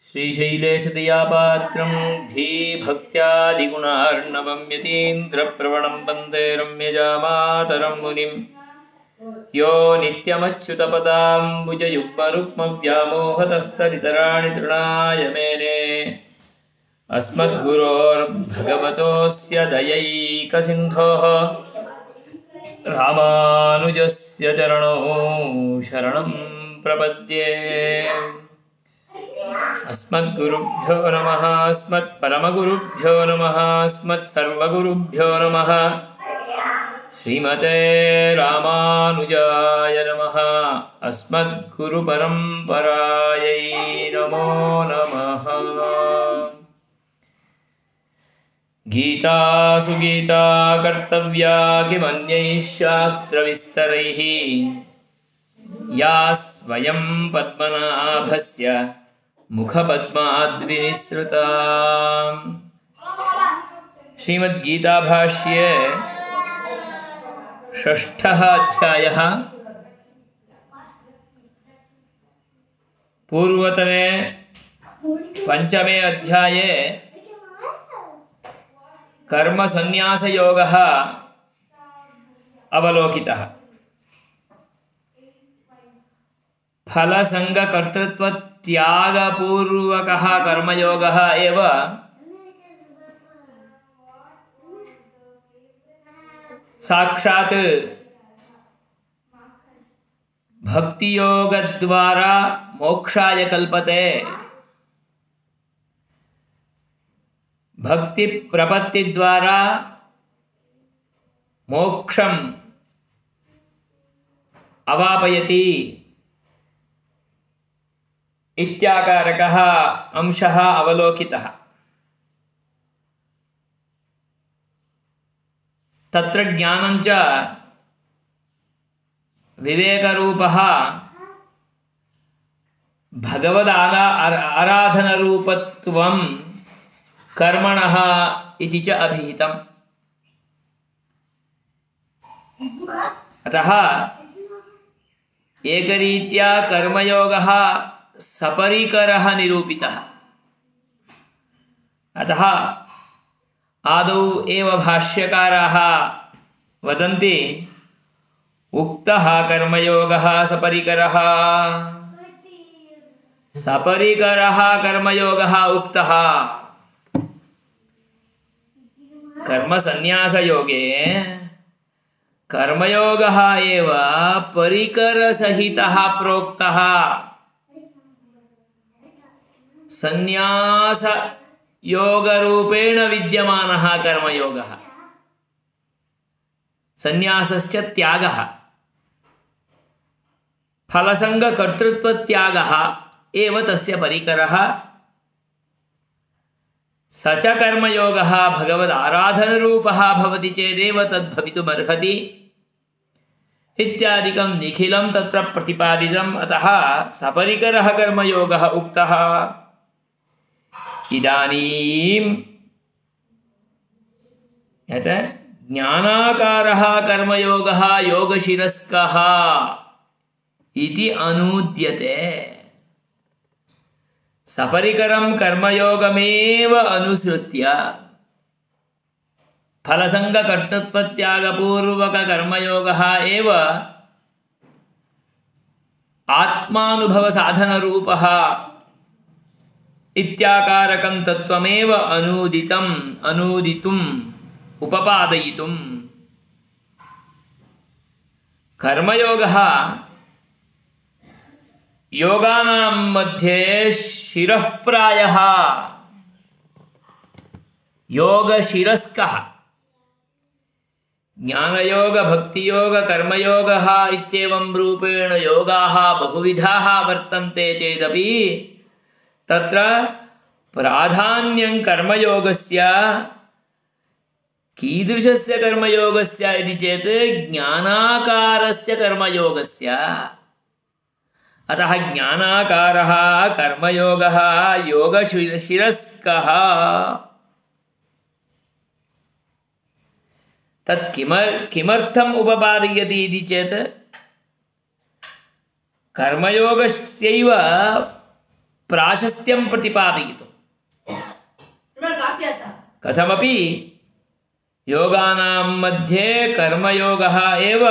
श्रीशैलेशदयापात्रं धीभक्त्यादिगुणार्णवं यतीन्द्रप्रवणं वन्दे रम्यजामातरं मुनिं यो नित्यमच्युतपदाम्बुजयुग्मरुक्मव्यामोहतस्तरितराणि तृणाय मेने अस्मद्गुरोर्भगवतोऽस्य दयैकसिन्धोः रामानुजस्य चरणौ शरणं प्रपद्ये। अस्मद्गुरुभ्यो नमः, अस्मत्परमगुरुभ्यो नमः, अस्मत्सर्वगुरुभ्यो नमः। श्रीमते रामानुजाय नमः। अस्मद्गुरुपरम्परायै नमो नमः। गीता सुगीता कर्तव्या किमन्यैः शास्त्रविस्तरैः, या स्वयं पद्मनाभस्य मुखपद्माद्विनिसृता। श्रीमद्गीता भाष्ये षष्ठः अध्यायः। पूर्वतने पंचमे अध्याये कर्मसन्न्यासयोगः अवलोकितः। फलसंगकर्तृत्वत्यागपूर्वकः कर्मयोगः एव साक्षात् भक्तियोगद्वारा मोक्षाय कल्पते। भक्ति प्रपत्ति द्वारा मोक्षम अवापयति इत्याकारकः अंशः अवलोकितः। तत्र ज्ञानञ्च विवेकरूपः भगवदाराधनरूपत्वं कर्मणः इति च अभिहितम्। अतः एकरीत्या कर्मयोगः सपरिकरः निरूपितः। अतः आदौ एव भाष्यकाराः वदन्ति उक्तः कर्मयोगः सपरिकरः, सपरिकरः कर्मयोगः उक्तः। कर्मसन्न्यासयोगे कर्मयोगः एव परिकरसहितः प्रोक्तः। सन्न्यासयोगरूपेण विद्यमानः कर्मयोगः, सन्न्यासश्च त्यागः, फलसंगकर्तृत्वत्यागः एव तस्य परिकरः। स च कर्मयोगः भगवदाराधनरूपः भवति चेदेव तद्भवितुमर्हति इत्यादिकं निखिलं तत्र प्रतिपादितम्। अतः सपरिकरः कर्मयोगः उक्तः। इदानीं यत् ज्ञानाकारः कर्मयोगः योगशिरस्कः इति अनूद्यते। सपरिकरं कर्मयोगमेव अनुसृत्य फलसंगकर्तृत्वत्यागपूर्वककर्मयोगः एव आत्मानुभवसाधनरूपः इत्याकारकं तत्त्वमेव अनूदितुम् उपपादयितुम्। कर्मयोगः योगानां मध्ये शिरःप्रायः योगशिरस्कः। ज्ञानयोग भक्तियोग कर्मयोगः इत्येवं रूपेण योगाः बहुविधाः वर्तन्ते चेदपि तत्र प्राधान्यं कर्मयोगस्य। कीदृशस्य कर्मयोगस्य इति चेत् ज्ञानाकारस्य कर्मयोगस्य। अतः ज्ञानाकारः कर्मयोगः योगशिरस्कः। तत् किमर्थम् उपपादयति इति चेत् कर्मयोगस्यैव प्राशस्त्यं प्रतिपादयितुं कथमपि योगानां मध्ये कर्मयोगः एव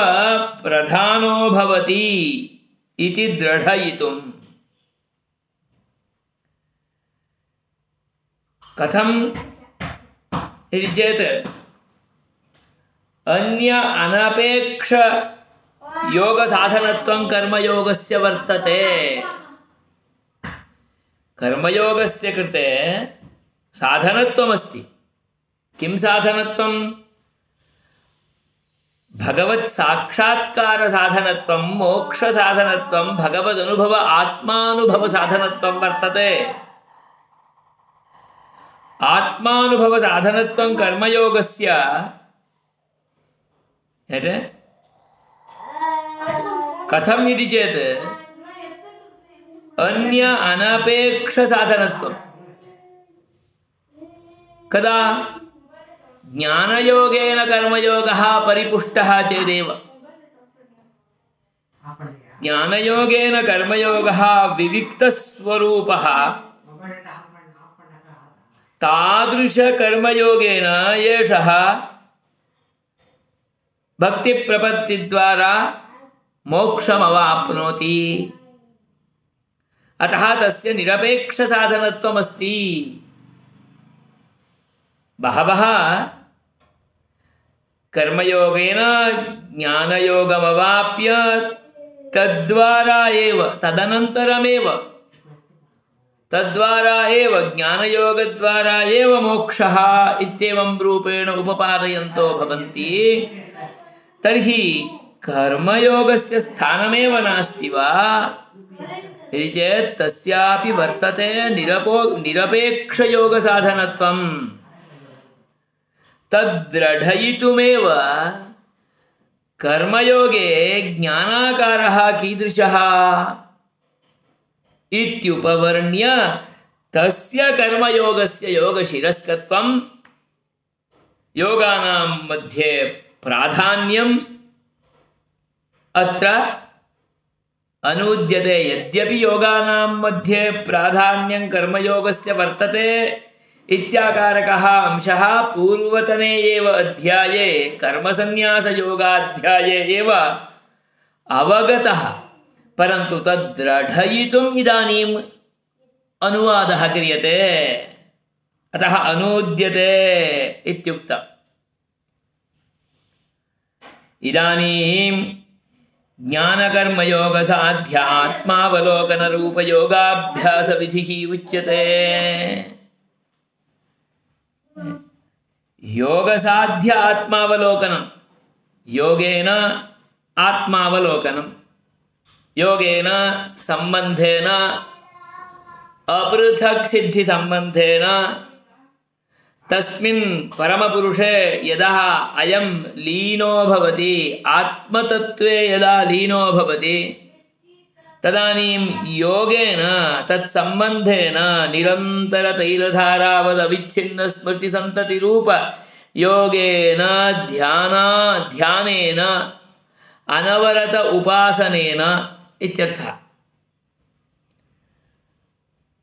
प्रधानो भवति इति दृढयितुं कथम् इति चेत् अन्य अनपेक्ष योगसाधनत्वं कर्मयोगस्य वर्तते। कर्मयोगस्य कृते साधनत्वमस्ति। किं साधनत्वं? भगवत् साक्षात्कार साधनत्वं, मोक्ष साधनत्वं, भगवदनुभव आत्मानुभव साधनत्वं वर्तते। आत्मानुभव साधनत्वं कर्मयोगस्य कथम् इति चेत् अन्य अनपेक्ष साधनत्वं। कदा? ज्ञानयोगेन कर्मयोगः परिपुष्टः चेदेव। ज्ञानयोगेन कर्मयोगः विविक्तस्वरूपः तादृशकर्मयोगेन एषः भक्तिप्रपत्तिद्वारा मोक्षमवाप्नोति। अतः तस्य निरपेक्षसाधनत्वमस्ति। बहवः कर्मयोगेन ज्ञानयोगमवाप्य तद्वारा एव तद्वारा एव ज्ञानयोगद्वारा एव मोक्षः इत्येवं रूपेण उपपादयन्तो भवन्ति। तर्हि कर्मयोगस्य स्थानमेव नास्ति वा इति चेत् तस्यापि वर्तते निरपेक्षयोगसाधनत्वं। तद्दृढयितुमेव कर्मयोगे ज्ञानाकारः कीदृशः इत्युपवर्ण्य तस्य कर्मयोगस्य योगशिरस्कत्वं, योगानां मध्ये प्राधान्यम् अत्र अनुद्यते। यद्यपि योगानां मध्ये प्राधान्यं कर्मयोगस्य वर्तते इत्याकारकः अंशः पूर्वतने एव अध्याये कर्मसन्न्यासयोगाध्याये एव अवगतः, परन्तु तद्दृढयितुम् इदानीम् अनुवादः क्रियते। अतः अनुद्यते इत्युक्तम्। इदानीं ज्ञानकर्मयोगसाध्य आत्मावलोकनरूपयोगाभ्यासविधिः उच्यते। योगसाध्य आत्मावलोकनं, योगेन आत्मावलोकनं, योगेन सम्बन्धेन अपृथक् सिद्धि सम्बन्धेन तस्मिन् परमपुरुषे यदा अयं लीनो भवति, आत्मतत्त्वे यदा लीनो भवति, तदानीं योगेन तत्सम्बन्धेन निरन्तरतैलधारावदविच्छिन्नस्मृतिसन्ततिरूप योगेन ध्यानेन अनवरत उपासनेन इत्यर्थः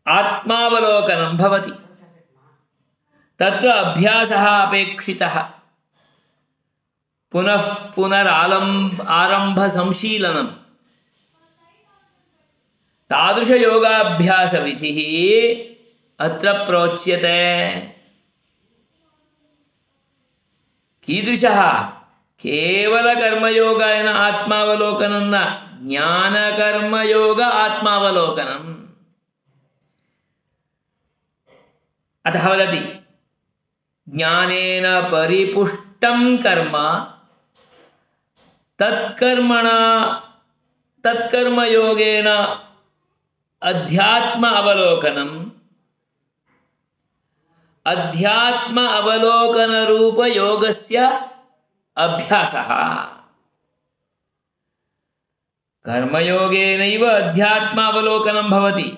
आत्मावलोकनं भवति। तत्र अभ्यासः अपेक्षितः। पुनः आरम्भसंशीलनं तादृशयोगाभ्यासविधिः अत्र प्रोच्यते। कीदृशः? केवलकर्मयोगेन आत्मावलोकनं न, ज्ञानकर्मयोग आत्मावलोकनम्। अतः वदति ज्ञानेन परिपुष्टं कर्म तत्कर्मयोगेन अध्यात्म अवलोकन रूप योगस्य अभ्यासः। कर्मयोगेनैव अध्यात्मावलोकनं भवति,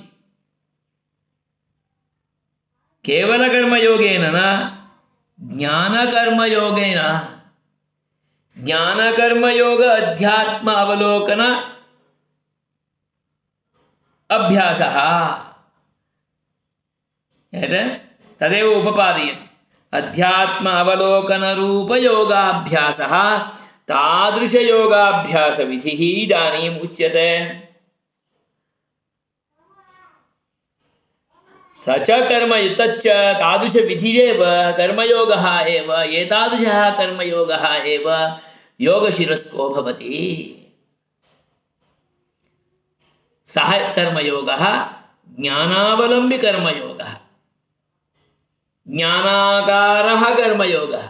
केवलकर्मयोगेन न, ज्ञानकर्मयोगेन। ज्ञानकर्मयोग अध्यात्म अवलोकन अभ्यासः। तदेव उपपादयति। अध्यात्म अवलोकनरूपयोगाभ्यासः तादृशयोगाभ्यासविधिः इदानीम् उच्यते। स च कर्म तच्च तादृशविधिरेव कर्मयोगः एव, एतादृशः कर्मयोगः एव योगशिरस्को भवति। सः कर्मयोगः ज्ञानावलम्बी कर्मयोगः, ज्ञानाकारः कर्मयोगः।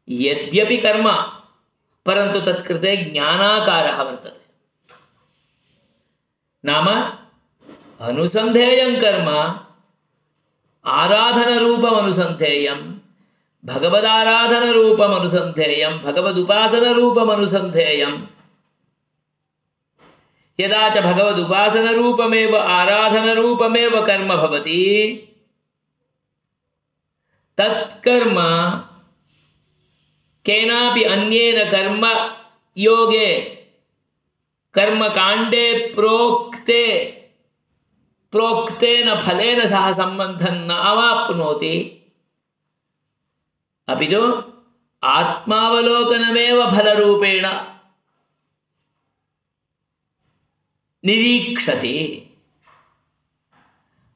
यद्यपि कर्म परन्तु तत्कृते ज्ञानाकारः वर्तते। नाम अनुसन्धेयं कर्म आराधनरूपमनुसन्धेयं, भगवदाराधनरूपमनुसन्धेयं, भगवदुपासनरूपमनुसन्धेयं। यदा च भगवदुपासनरूपमेव आराधनरूपमेव कर्म भवति, तत्कर्म केनापि अन्येन कर्म योगे कर्मकाण्डे प्रोक्तेन फलेन सह सम्बन्धं न अवाप्नोति, अपि तु आत्मावलोकनमेव फलरूपेण निरीक्षति।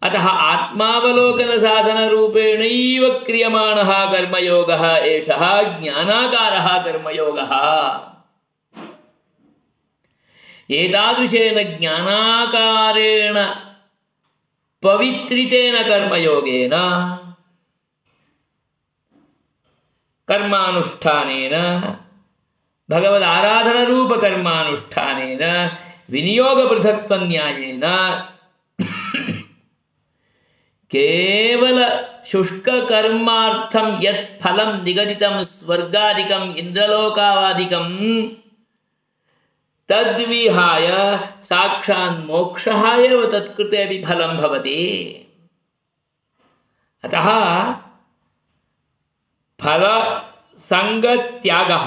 अतः आत्मावलोकनसाधनरूपेणैव क्रियमाणः कर्मयोगः एषः ज्ञानाकारः कर्मयोगः। एतादृशेन ज्ञानाकारेण पवित्रितेन कर्मयोगेन, कर्मानुष्ठानेन, भगवदाराधनरूपकर्मानुष्ठानेन, विनियोगपृथक्त्वन्यायेन केवल शुष्ककर्मार्थं यत् फलं निगदितं स्वर्गादिकम् इन्द्रलोकावादिकं तद्विहाय साक्षात् मोक्षः एव तत्कृते अपि फलं भवति। अतः फलसङ्गत्यागः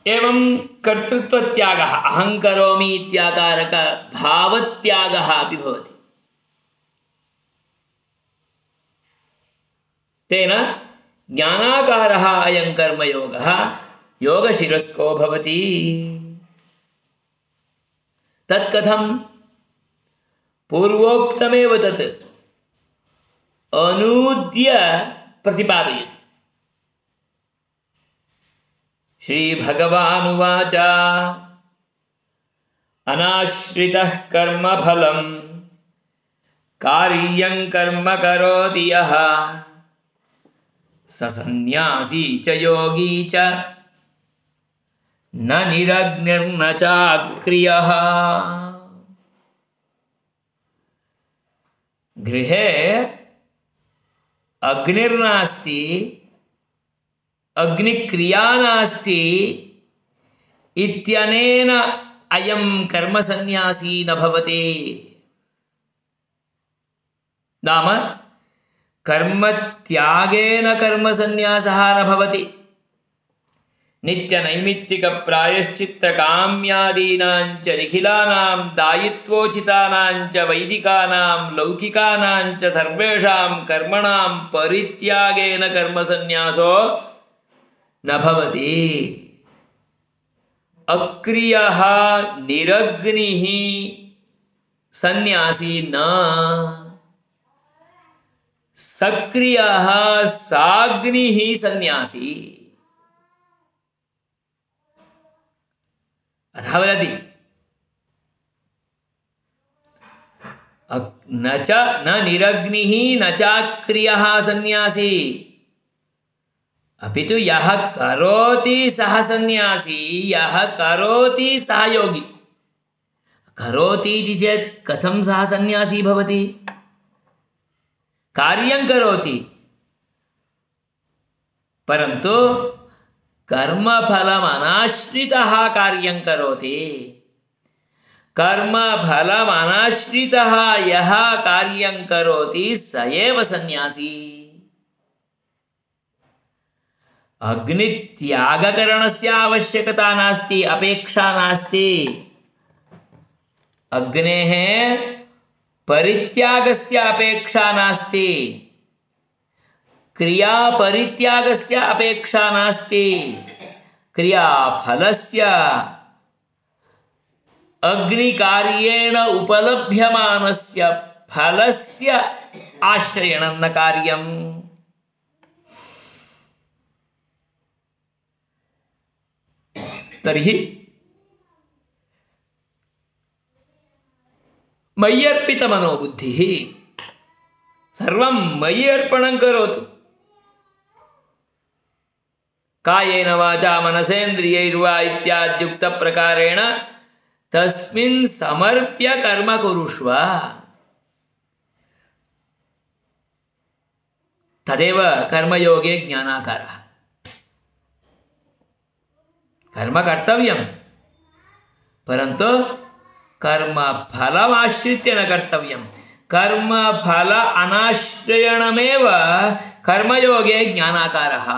एवं कर्तृत्वत्यागः, अहं करोमि इत्याकारक भावत्यागः अपि भवति। तेन ज्ञानाकारः अयं कर्मयोगः योगशिरस्को भवति। तत्कथं? पूर्वोक्तमेव तत् अनूद्य प्रतिपादयति। श्रीभगवानुवाच अनाश्रितः कर्मफलं कार्यं कर्म करोति यः स सन्न्यासी च योगी च न निरग्निर्न चाक्रियः। गृहे अग्निर्नास्ति, अग्निक्रिया नास्ति इत्यनेन अयं कर्मसन्न्यासी न भवति। नाम कर्मत्यागेन कर्मसन्न्यासः न भवति। नित्यनैमित्तिकप्रायश्चित्तकाम्यादीनां च निखिलानां दायित्वोचितानां च वैदिकानां लौकिकानां च सर्वेषां कर्मणां परित्यागेन कर्मसन्न्यासो न भवति। अक्रियः निरग्निः सन्न्यासी न, सक्रियः साग्निः सन्न्यासी। अतः वदति न निरग्निः न चाक्रियः सन्न्यासी, अपि तु यः करोति सः सन्न्यासी, यः करोति सः योगी। करोति इति चेत् कथं सः सन्न्यासी भवति? कार्यं करोति परन्तु कर्मफलमनाश्रितः कार्यं करोति। कर्मफलमनाश्रितः यः कार्यं करोति स एव सन्न्यासी। अग्नित्यागकरणस्य आवश्यकता नास्ति, अपेक्षा नास्ति। अग्नेः परित्यागस्य अपेक्षा नास्ति, क्रियापरित्यागस्य अपेक्षा नास्ति, क्रियाफलस्य अग्निकार्येण उपलभ्यमानस्य फलस्य आश्रयणं न कार्यम्। तर्हि मय्यर्पितमनोबुद्धिः, सर्वं मयि अर्पणं करोतु। कायेन वाचा मनसेन्द्रियैर्वा इत्याद्युक्तप्रकारेण तस्मिन् समर्प्य कर्म कुरुष्व। तदेव कर्मयोगे ज्ञानाकारः। कर्म कर्तव्यं, परन्तु कर्मफलमाश्रित्य न कर्तव्यं। कर्मफल अनाश्रयणमेव कर्मयोगे ज्ञानाकारः।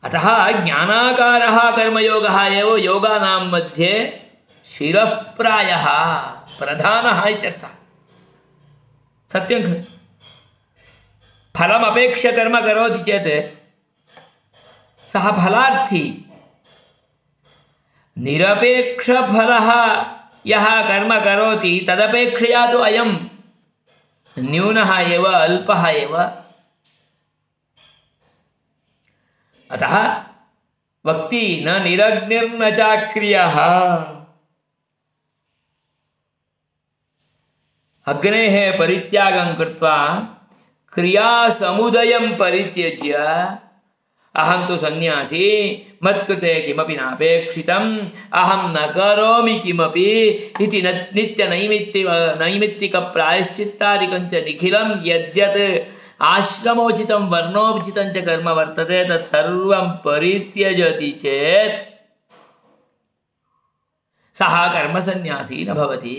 अतः ज्ञानाकारः कर्मयोगः एव योगानां मध्ये शिरःप्रायः प्रधानः इत्यर्थः। सत्यं खलु? फलमपेक्ष्य कर्म करोति चेत् सः फलार्थी। निरपेक्षफलः यः कर्म करोति तदपेक्षया तु अयं न्यूनः एव, अल्पः एव। अतः वक्ति न निरग्निर्न चाक्रियः। अग्नेः परित्यागं कृत्वा क्रियासमुदयं परित्यज्य अहं तु सन्यासी, मत्कृते किमपि नापेक्षितम्, अहं न करोमि किमपि इति नित्यनैमित्तिकप्रायश्चित्तादिकं च निखिलं यद्यत् आश्रमोचितं वर्णोचितं च कर्म वर्तते तत्सर्वं परित्यजति चेत् सः कर्मसन्यासी न भवति।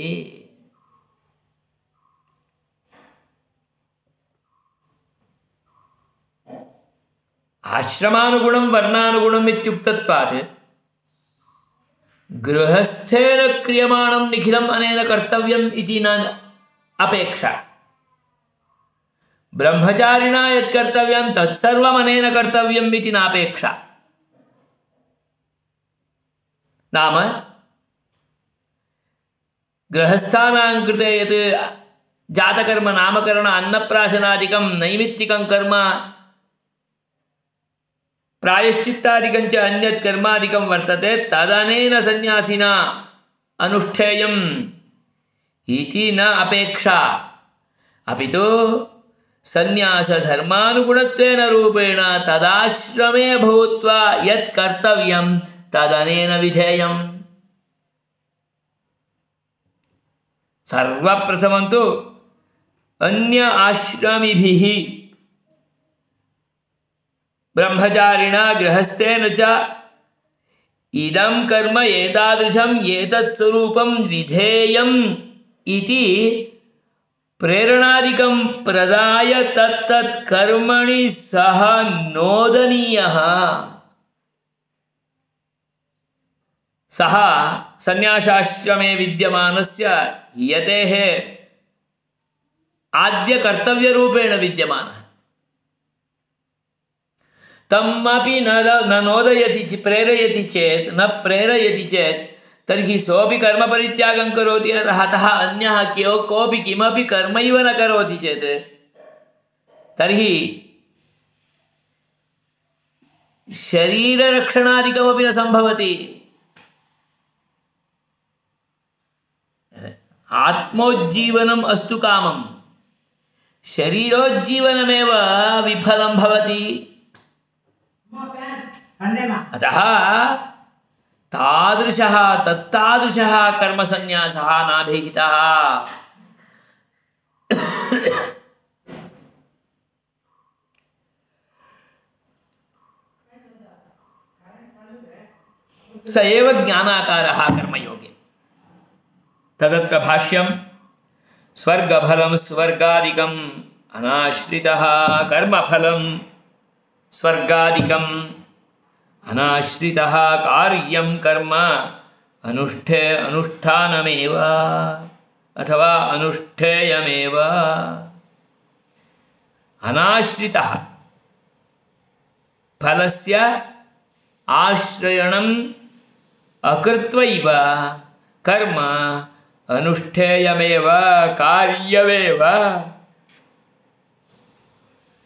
आश्रमानुगुणं वर्णानुगुणम् इत्युक्तत्वात् गृहस्थेन क्रियमाणं निखिलम् अनेन कर्तव्यम् इति न अपेक्षा। ब्रह्मचारिणा यत् कर्तव्यं तत्सर्वम् अनेन कर्तव्यम् इति नापेक्षा। नाम गृहस्थानां कृते यत् जातकर्म नामकरण अन्नप्राशनादिकं नैमित्तिकं कर्म प्रायश्चित्तादिकं च अन्यत् कर्मादिकं वर्तते तदनेन सन्यासिना अनुष्ठेयम् इति न अपेक्षा। अपि तु सन्यासधर्मानुगुणत्वेन रूपेण तदाश्रमे भूत्वा यत् कर्तव्यं तदनेन विधेयम्। सर्वप्रथमं तु अन्य आश्रमिभिः ब्रह्मचारिणा गृहस्थेन च इदं कर्म एतादृशं एतत् स्वरूपं विधेयम् इति प्रेरणादिकं प्रदाय तत्तत् कर्मणि सः नोदनीयः। सः सन्यासाश्रमे विद्यमानस्य यतेः आद्यकर्तव्यरूपेण विद्यमानः तमपि न नोदयति प्रेरयति चेत् न प्रेरयति चेत् तर्हि सोऽपि कर्मपरित्यागं करोति। अतः अन्यः कोऽपि किमपि कर्मैव न करोति चेत् तर्हि शरीररक्षणादिकमपि न सम्भवति। आत्मोज्जीवनम् अस्तु कामं, शरीरोज्जीवनमेव विफलं भवति। अतः तादृशः तत्तादृशः कर्मसन्यासः नाभिहितः। स एव ज्ञानाकारः कर्मयोगे। तदत्र भाष्यं स्वर्गफलं स्वर्गादिकम् अनाश्रितः कर्मफलं स्वर्गादिकम् अनाश्रितः कार्यं कर्म अनुष्ठानमेव अथवा अनुष्ठेयमेव। अनाश्रितः फलस्य आश्रयणम् अकृत्वैव कर्म अनुष्ठेयमेव कार्यमेव।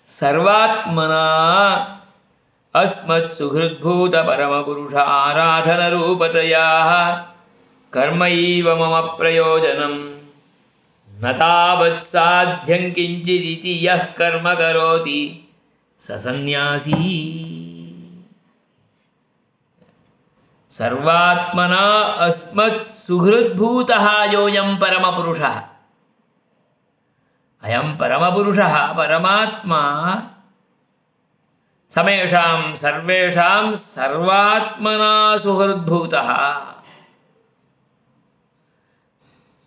सर्वात्मना अस्मत्सुहृद्भूत परमपुरुष आराधनरूपतया कर्मैव मम प्रयोजनं न तावत् साध्यं किञ्चिदिति यः कर्म करोति स सन्न्यासी। सर्वात्मना अस्मत्सुहृद्भूतः योऽयं परमपुरुषः। अयं परमपुरुषः परमात्मा समेषां सर्वेषां सर्वात्मना सुहृद्भूतः।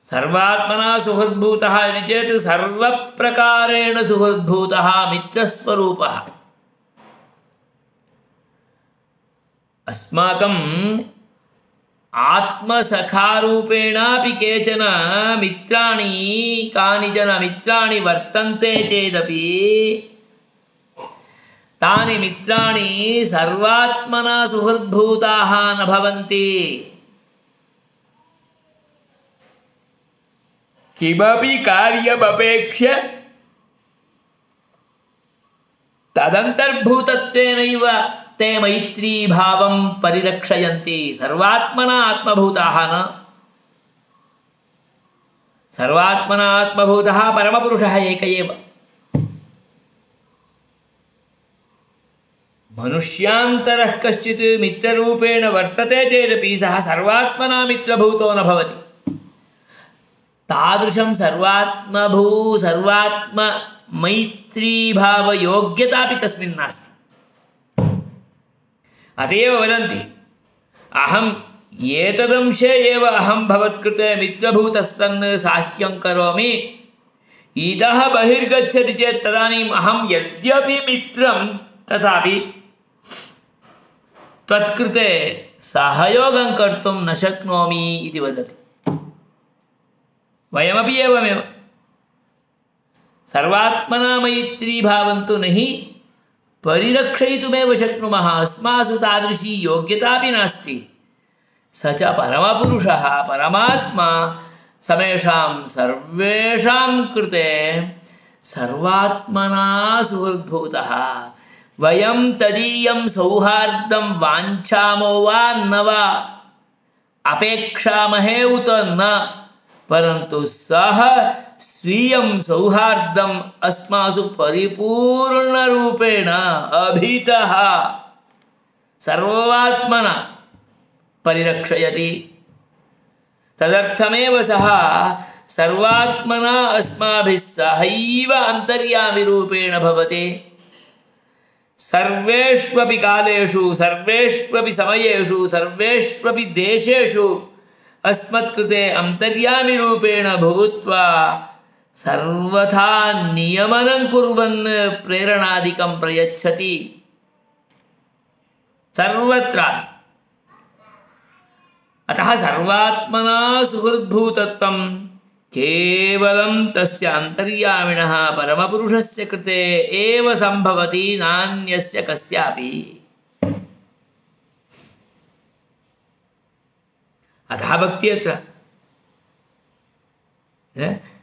सर्वात्मना सुहृद्भूतः इति चेत् सर्वप्रकारेण सुहृद्भूतः मित्रस्वरूपः। अस्माकम् आत्मसखारूपेणापि केचन मित्राणि कानिचन मित्राणि वर्तन्ते चेदपि तानि मित्राणि सर्वात्मना सुहृद्भूताः न भवन्ति। किमपि कार्यमपेक्ष्य तदन्तर्भूतत्वेनैव ते मैत्रीभावं परिरक्षयन्ति। सर्वात्मना आत्मभूताः न। सर्वात्मना आत्मभूतः परमपुरुषः एक एव। मनुष्यान्तरः कश्चित् मित्ररूपेण वर्तते चेदपि सः सर्वात्मना मित्रभूतो न भवति। तादृशं सर्वात्ममैत्रीभावयोग्यतापि तस्मिन् नास्ति। अत एव वदन्ति अहम् एतदंशे एव अहं भवत्कृते मित्रभूतः सन् साह्यं करोमि। इतः बहिर्गच्छति चेत् तदानीम् अहं यद्यपि मित्रं तथापि त्वत्कृते सहयोगं कर्तुं न शक्नोमि इति वदति। वयमपि एवमेव सर्वात्मना मैत्रीभावं तु न हि परिरक्षयितुमेव शक्नुमः। अस्मासु तादृशी योग्यतापि नास्ति। स च परमपुरुषः परमात्मा समेषां सर्वेषां कृते सर्वात्मना सुहृद्भूतः। वयं तदीयं सौहार्दं वाञ्छामो वा न वा अपेक्षामहे उत न, परन्तु सः स्वीयं सौहार्दम् अस्मासु परिपूर्णरूपेण अभितः सर्वात्मना परिरक्षयति। तदर्थमेव सः सर्वात्मना अस्माभिः सहैव अन्तर्यामिरूपेण भवति। सर्वेष्वपि कालेषु सर्वेष्वपि समयेषु सर्वेष्वपि देशेषु अस्मत्कृते अन्तर्यामिरूपेण भूत्वा सर्वथा नियमनं कुर्वन् प्रेरणादिकं प्रयच्छति सर्वत्र। अतः सर्वात्मना सुहृद्भूतत्वं केवलं तस्य अन्तर्यामिणः परमपुरुषस्य कृते एव सम्भवति, नान्यस्य कस्यापि। अतः भक्ति अत्र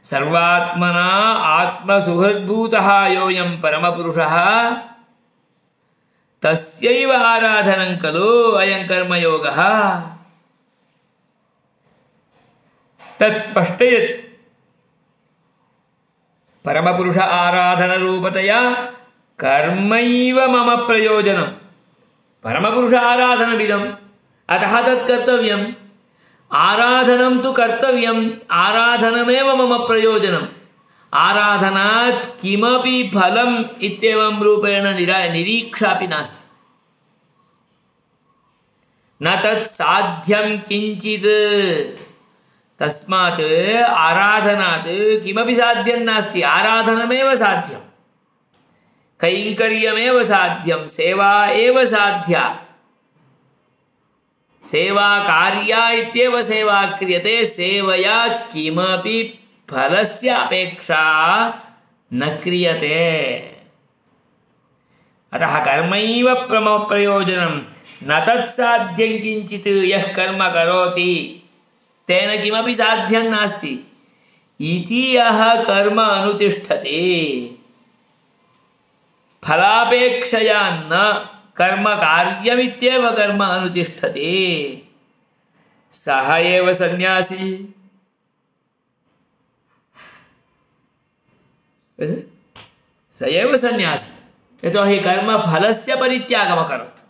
सर्वात्मना आत्मसुहृद्भूतः योऽयं परमपुरुषः तस्यैव आराधनं खलु अयं कर्मयोगः। तत्स्पष्टयति। परमपुरुष आराधनरूपतया कर्मैव मम प्रयोजनं। परमपुरुष आराधनमिदम्, अतः तत् कर्तव्यम्। आराधनं तु कर्तव्यम्, आराधनमेव मम प्रयोजनम्। आराधनात् किमपि फलम् इत्येवं रूपेण निरीक्षापि नास्ति। न तत् साध्यं किञ्चित्। तस्मात् आराधनात् किमपि साध्यं नास्ति। आराधनमेव साध्यं, कैङ्कर्यमेव साध्यं, सेवा एव साध्या। सेवा कार्या इत्येव सेवा क्रियते सेवया किमपि फलस्य अपेक्षा न क्रियते अतः कर्मैव प्रयोजनं न तत्साध्यं किञ्चित् यः कर्म करोति तेन किमपि साध्यं नास्ति इति यः कर्म अनुतिष्ठते फलापेक्षया न कर्म कार्यमित्येव कर्म अनुतिष्ठते सः एव सन्यासी स एव सन्यासी यतोहि कर्म फलस्य परित्यागमकरोत्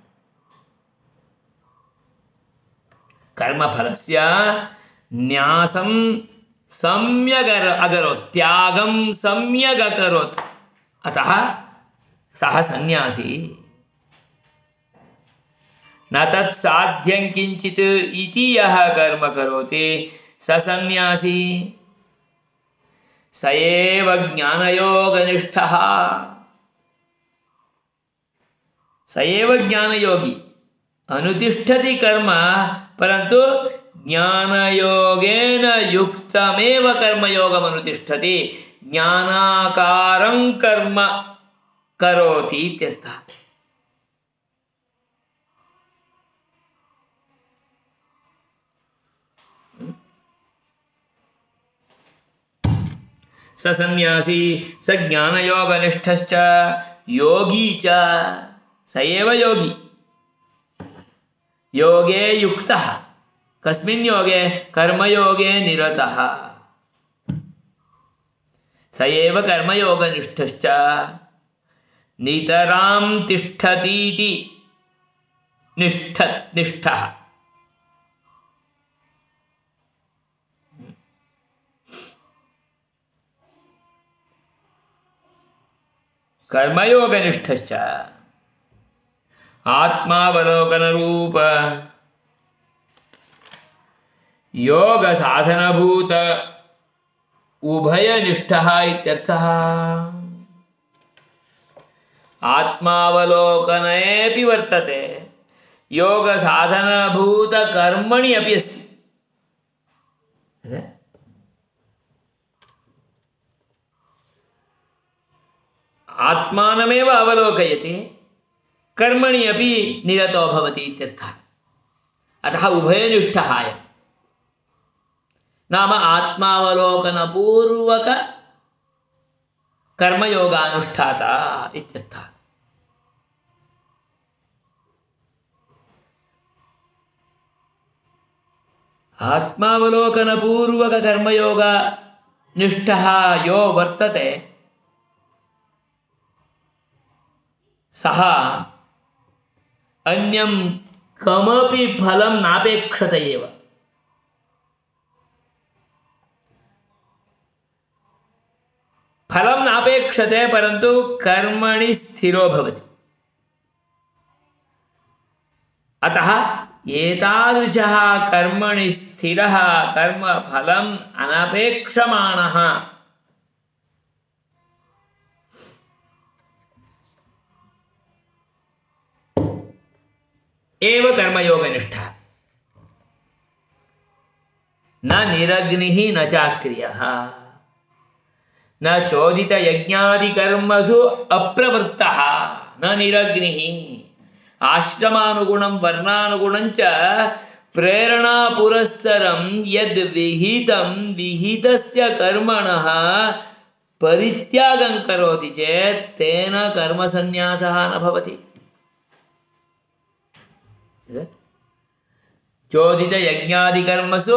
कर्मफलस्य न्यासं सम्यक् अकरोत् त्यागं सम्यक् अकरोत् अतः सः सन्यासी न तत्साध्यं किञ्चित् इति यः कर्म करोति स सन्यासी स एव ज्ञानयोगनिष्ठः स एव ज्ञानयोगी अनुतिष्ठति कर्म परन्तु ज्ञानयोगेन युक्तमेव कर्मयोगम् अनुतिष्ठति ज्ञानाकारं कर्म करोति इत्यर्थः स सन्यासी स ज्ञानयोगनिष्ठश्च योगी च स एव योगी योगे युक्तः कस्मिन् योगे कर्मयोगे निरतः स एव कर्मयोगनिष्ठश्च नितरां तिष्ठतीति निष्ठः कर्मयोगनिष्ठश्च आत्मावलोकनरूप योग साधनभूत उभयनिष्ठः इत्यर्थः आत्मावलोकनेऽपि वर्तते योग साधनभूत कर्मणि अपि अस्ति आत्मानमेव अवलोकयति कर्मणि अपि निरतो भवति इत्यर्थः अतः उभयनिष्ठः अयम् नाम आत्मावलोकनपूर्वक कर्मयोगानुष्ठाता इत्यर्थः आत्मावलोकनपूर्वक कर्मयोगनिष्ठः यो वर्तते सः अन्यं कमपि फलं नापेक्षते एव फलं नापेक्षते परन्तु कर्मणि स्थिरो भवति अतः एतादृशः कर्मणि स्थिरः कर्मफलम् अनपेक्षमाणः एव कर्मयोगनिष्ठः न निरग्निः न चाक्रियः न चोदितयज्ञादिकर्मसु अप्रवृत्तः न निरग्निः आश्रमानुगुणं वर्णानुगुणं च प्रेरणापुरस्सरं यद् विहितं विहितस्य कर्मणः परित्यागं करोति चेत् तेन कर्मसन्न्यासः न भवति चोदितयज्ञादिकर्मसु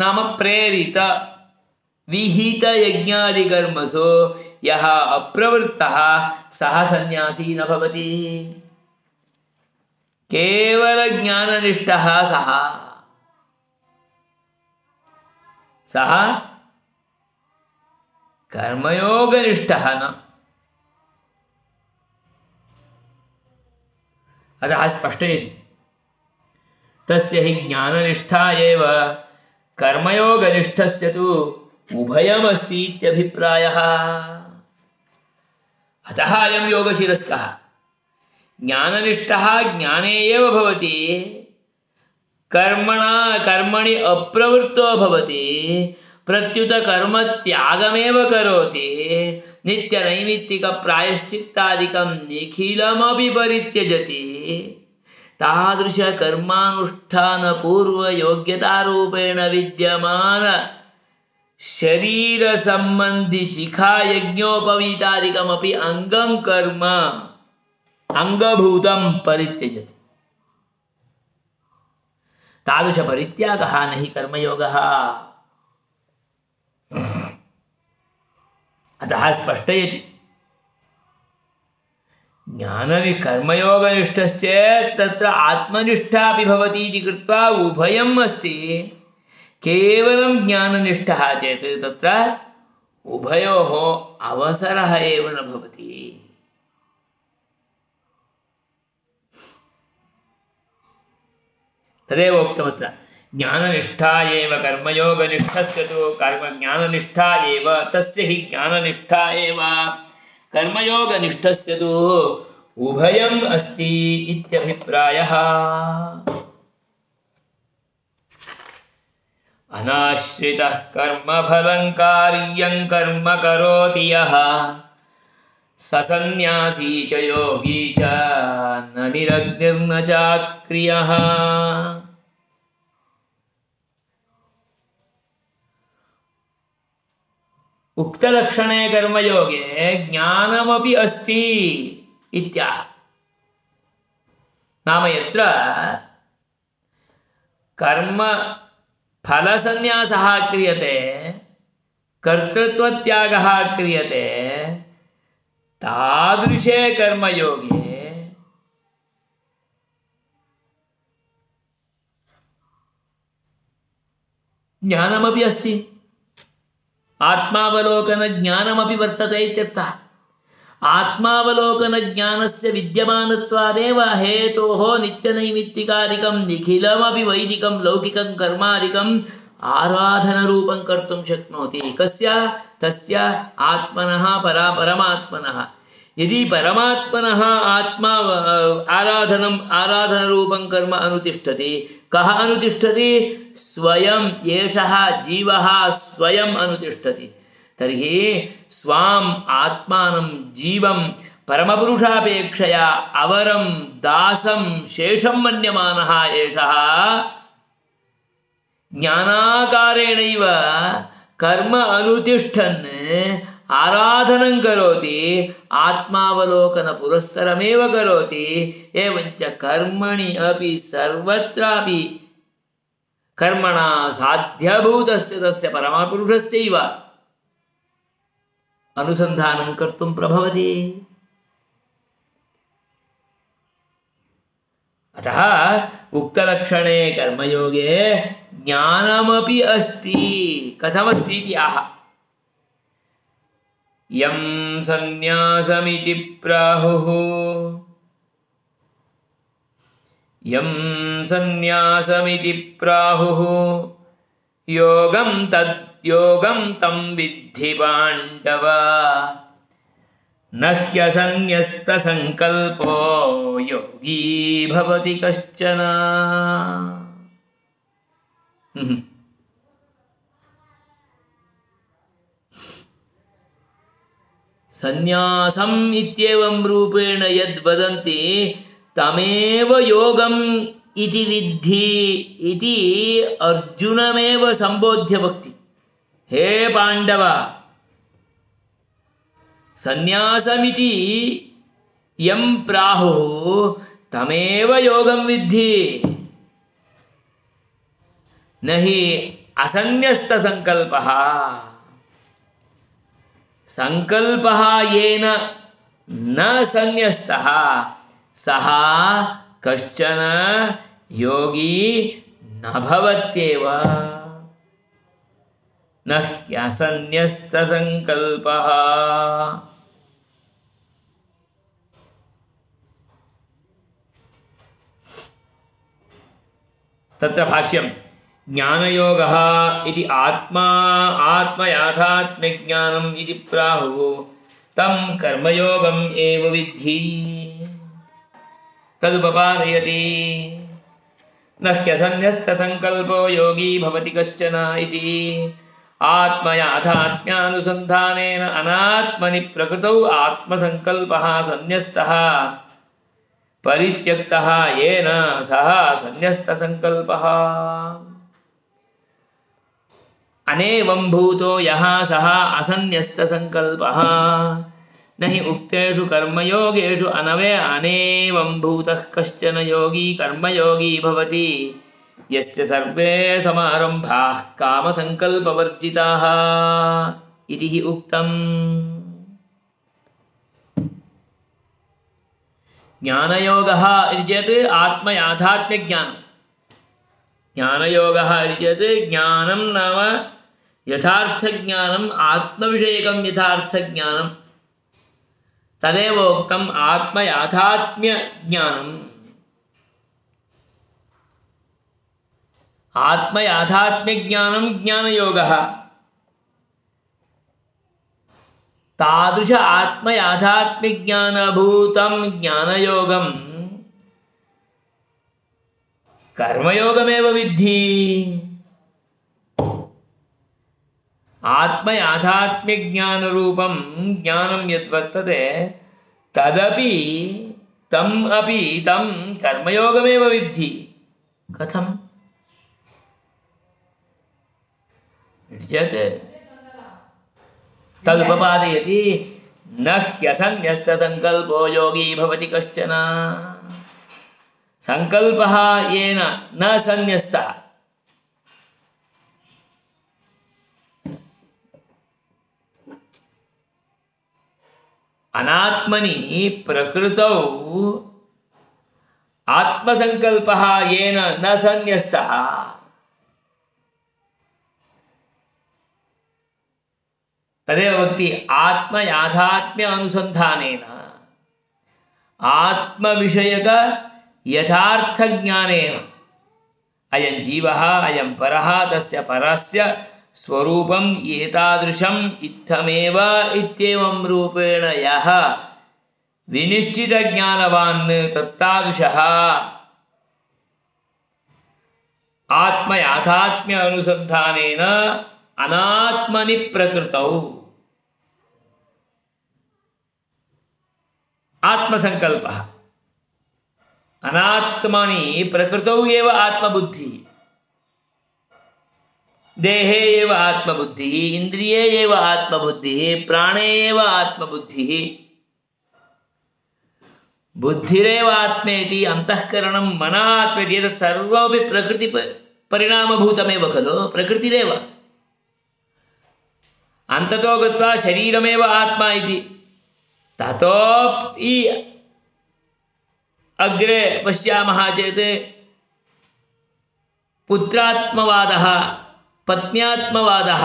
नाम प्रेरित विहितयज्ञादिकर्मसु यः अप्रवृत्तः सः सन्यासी न भवति केवलज्ञाननिष्ठः सः कर्मयोगनिष्ठः न अतः स्पष्टयति तस्य हि ज्ञाननिष्ठा एव कर्मयोगनिष्ठस्य तु उभयमस्ति इत्यभिप्रायः अतः अयं योगशिरस्कः ज्ञाननिष्ठः ज्ञाने एव भवति कर्मणि अप्रवृत्तो भवति, प्रत्युत कर्मत्यागमेव करोति, नित्यनैमित्तिकप्रायश्चित्तादिकं निखिलमपि परित्यजति, तादृशकर्मानुष्ठानपूर्वयोग्यतारूपेण विद्यमान शरीरसम्बन्धि शिखायज्ञोपवीतादिकमपि अङ्गं कर्म अङ्गभूतं परित्यजति। तादृशपरित्यागः न हि कर्मयोगः। अतः स्पष्टयति कर्मयोगनिष्ठश्चेत् तत्र आत्मनिष्ठापि भवति इति कृत्वा उभयम् अस्ति। केवलं ज्ञाननिष्ठः चेत् तत्र उभयोः अवसरः एव न भवति। तदेव उक्तमत्र ज्ञाननिष्ठा एव कर्मयोगनिष्ठस्य तु कर्मज्ञाननिष्ठा एव तस्य हि ज्ञाननिष्ठा एव कर्मयोगनिष्ठस्य तु उभयम् अस्ति इत्यभिप्रायः। अनाश्रितः कर्मफलं कार्यं कर्म करोति यः स सन्न्यासी च योगी च न निरग्निर्न चाक्रियः। उक्तलक्षणे कर्मयोगे ज्ञानमपि अस्ति इत्याह। नाम यत्र कर्म फलसन्न्यासः क्रियते, कर्तृत्वत्यागः क्रियते, तादृशे कर्मयोगे ज्ञानमपि अस्ति, आत्मावलोकनज्ञानमपि वर्तते इत्यर्थः। आत्मावलोकनज्ञानस्य विद्यमानत्वादेव हेतोः नित्यनैमित्तिकादिकं निखिलमपि वैदिकं लौकिकं कर्मादिकम् आराधनरूपं कर्तुं शक्नोति। कस्य? तस्य आत्मनः परमात्मनः। यदि परमात्मनः आत्मा आराधनरूपं कर्म अनुतिष्ठति, कः अनुतिष्ठति? स्वयं एषः जीवः स्वयं अनुतिष्ठति। तर्हि स्वाम् आत्मानं जीवं परमपुरुषापेक्षया अवरं दासं शेषं मन्यमानः एषः ज्ञानाकारेणैव कर्म अनुतिष्ठन् आराधनं करोति, आत्मावलोकनपुरस्सरमेव करोति। एवञ्च कर्मणि अपि सर्वत्रापि कर्मणा साध्यभूतस्य तस्य परमपुरुषस्यैव अनुसन्धानं कर्तुं प्रभवति। अतः उक्तलक्षणे कर्मयोगे ज्ञानमपि अस्ति। कथमस्ति इति आह। यं सन्न्यासमिति प्राहुः, यं सन्न्यासमिति प्राहुः योगं तद्योगं तं विद्धि पाण्डव, न ह्यसन्न्यस्तसङ्कल्पो योगी भवति कश्चन। सन्न्यासम् इत्येवं रूपेण यद् वदन्ति तमेव योगम् इति विद्धि इति अर्जुनमेव सम्बोध्य वक्ति। हे पाण्डव, सन्न्यासमिति यं प्राहुः तमेव योगं विद्धि, न हि असन्न्यस्तसङ्कल्पः। संकल्पः येन न सन्न्यस्तः सः कश्चन योगी न भवत्येव। न ह्यसन्न्यस्तसङ्कल्पः। तत्र भाष्यं ज्ञानयोगः इति आत्मयाथात्म्यज्ञानम् इति प्राहुः तं कर्मयोगम् एव विद्धि। तदुपपादयति। न ह्यसन्न्यस्तसङ्कल्पो योगी भवति कश्चन इति आत्मयाथात्म्यानुसन्धानेन अनात्मनि प्रकृतौ आत्मसङ्कल्पः सन्न्यस्तः परित्यक्तः येन सः सन्न्यस्तसङ्कल्पः अनेवं भूतो यः सः असन्न्यस्तसङ्कल्पः न हि उक्तेषु कर्मयोगेषु अनेवं भूतः कश्चन योगी कर्मयोगी भवति यस्य सर्वे समारम्भाः कामसङ्कल्पवर्जिताः इति हि उक्तम्। ज्ञानयोगः इति चेत् आत्मयाथात्म्यज्ञानं। ज्ञानयोगः इति चेत् ज्ञानं नाम यथार्थज्ञानम् आत्मविषयकं यथार्थज्ञानं तदेव उक्तम् आत्मयाथात्म्यज्ञानम्। आत्मयाथात्म्यज्ञानं ज्ञानयोगः। तादृश आत्मयाथात्म्यज्ञानभूतं ज्ञानयोगं कर्मयोगमेव विद्धि। आत्मयाथात्म्यज्ञानरूपं ज्ञानं यद्वर्तते तदपि तं कर्मयोगमेव विद्धि। कथम् चेत् तदुपपादयति न ह्यसन्न्यस्तसङ्कल्पो योगी भवति कश्चन। संकल्पः येन न सन्न्यस्तः अनात्मनि प्रकृतौ आत्मसंकल्पः येन न सन्न्यस्तः तदेव वक्ति आत्मयाथात्म्य अनुसंधानेन आत्मविषयक यथार्थ ज्ञानेन अयं जीवः अयं परः तस्य परस्य स्वरूपम् एतादृशम् इत्थमेव इत्येवं रूपेण यः विनिश्चितज्ञानवान् तत्तादृशः आत्मयाथात्म्य अनुसंधानेन अनात्मनि प्रकृतौ आत्मसंकल्पः अनात्मनि प्रकृतौ एव आत्मबुद्धिः देहे एव आत्मबुद्धिः इन्द्रिये एव आत्मबुद्धिः प्राणे एव आत्मबुद्धिः बुद्धिरेव आत्मेति अंतःकरणं मनः आत्मेति एतत् सर्वमपि प्रकृति परिणामभूतमेव खलु प्रकृतिरेव अन्ततो गत्वा शरीरमेव आत्मा इति ततोपि अग्रे पश्यामः चेत् पुत्रात्मवादः पत्न्यात्मवादः